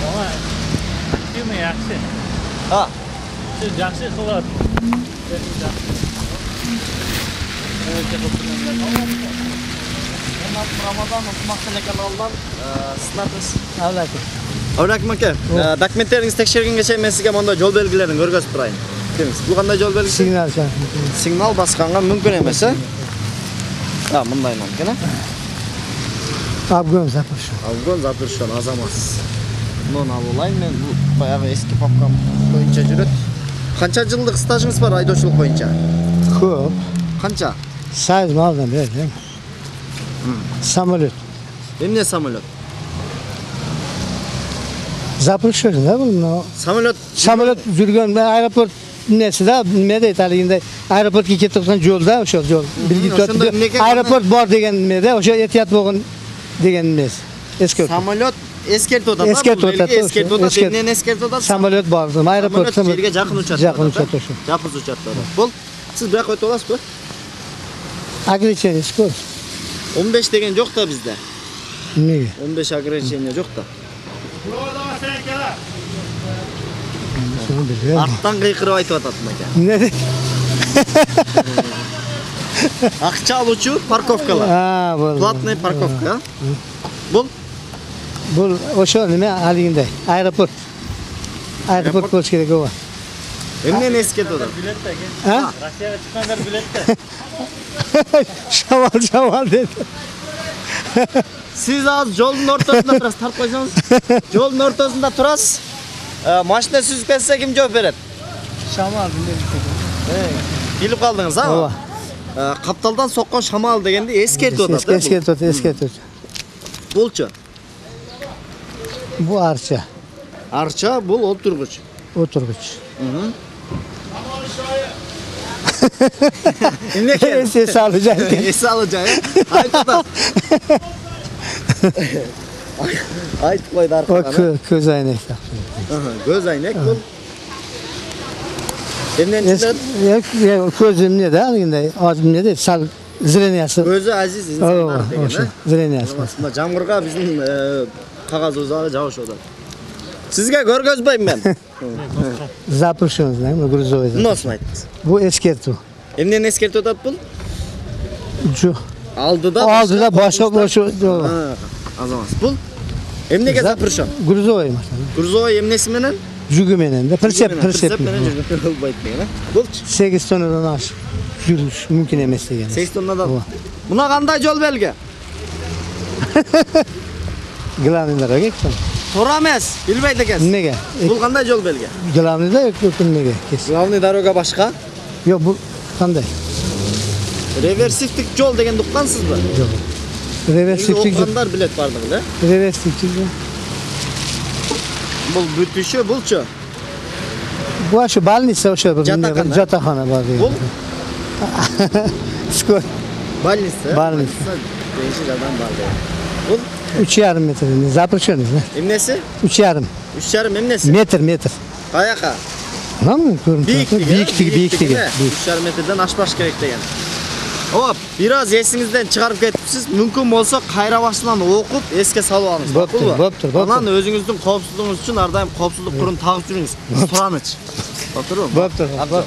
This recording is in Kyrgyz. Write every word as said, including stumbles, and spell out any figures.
Ага. Ким yaxshi? Ha. Siz yaxshi qilyapsiz. Ramazan Okumak telekanalından sınatız. Avlakim. Avlakim aka, dokumentleriniz tekşirgenge çeyim men sizge monda yol belgilerini görgözüp turayın. Demiz, bu qanday yol belgisi? Signal çak. Signal basqanга mümkün emas, ha? Ha, bunday mümkün, ha? Abgön Zapruşan. Abgön Zapruşan azamas. Bunu alılayım men bu bayağı eski papkam boyunca жүрөт. Qancha жылдык стажыңыз бар айдоочулук боюнча? Көп. Qancha? Sayız maldan berdim. Самолет. Эмне самолет? Zapruşan da bu. Самолет. Samolyot жүргөн аэропорт несі да, неме дейт алигинде аэропортко кетип турган жолда, ошол жол. Аэропорт бар деген неме, ошо этият болгон деген эмес. Эскертүү. Самолет эскертип атат. Эскертип атат. Эскертип атат. Эмнени эскертип атат? Самолет бар. Аэропорт жерге жакын учат. Жакын учат ошо. Жакын учат. Бул сиз бирок өтүп аласызбы? Ограничение скорость. он беш деген жок да бизде. Эмнеге? он беш ограничение жок да. Арттан кыйкырып айтып атат мыка. Эмне дейт? Акча алуучу парковкалар. А, бул. Платный парковка. Бул Бул ошо неме алигинде аэропорт. Аэропорт болуш керек ооба. Эмнени эскертип атат? Билет да экен. А? Россияга чыккандар билет да. Шамал, шамал dedi. Siz az жолдун ортосунда турасыз, тартып койсоңуз. Жолдун ортосунда турасыз. Машина сүзүп кетсе ким жооп берет? Шамал dedi. Билип калдыңыз, а? Ооба. Капталдан соккон шамал дегенди эскертип атат. Эскертип атат, эскертип атат. Булчу. Бу арча. Арча бул отургуч. Отургуч. Эмне экен? Эс алып экен. Эс алып жай. Айтып атат. Айтып койду аркадан. Көз айнек. Көз айнек бул. Эмнен чыгат? Көз эмне да, алгындай, эмне дейт, сал зрениясы. Көзү азиз инсандар деген, ошо, зрениясы. Мына жамгырга биздин кагазыбызга жабышып атат. Сизге көргөзбөйм мен. Запрещен, знаем, грузовый. Эмнесин айттыңыз? Бу эскертүү. Эмнени эскертип атат бул? Жо. Алдыда Алдыда башка ошо. Азамат. Бул эмнеге запрещен? Грузовый. Грузовый эмнеси менен? Жүгү менен да, прицеп, прицеп менен жүргөн болбойт деген, а? Булчу. сегиз тоннадан ашык жүрүш мүмкүн эмес деген. сегиз тоннадан. Муна кандай жол белги? Главный дорога экен. Туура эмес, билбейт экенсиз. Эмнеге? Бул кандай жол белги? Главный да эмнеге? Главный дорога башка? Жок, бул кандай? Реверсивдик жол дегенди уккансызбы? Жок. Реверсивдик жол. Уккандар билет бардыгы, да? Реверсивдик жол. Бул бүтүшү булчу. Бу ошо больница ошо Жатакана. жатакана бар деген. Бул скор. Больница. Больница. Бейши жадан бар деген. Бул үч жарым метр. Запрещенный, да? эмнеси? үч жарым. үч жарым эмнеси? Метр, метр. Каяка? Мына көрүнүп Бийиктиги, бийиктиги, бийиктиги. үч жарым метрден ашпаш керек деген. Оп, бир аз эсиңизден чыгарып кетипсиз, мүмкүн болсо кайра башынан окуп, эске салып алыңыз. Боптур, боптур, боптур. Анан өзүңүздүн коопсуздугуңуз үчүн ар дайым коопсуздук курун тагып жүрүңүз. Сураныч. Боптурбу? Боптур, боптур.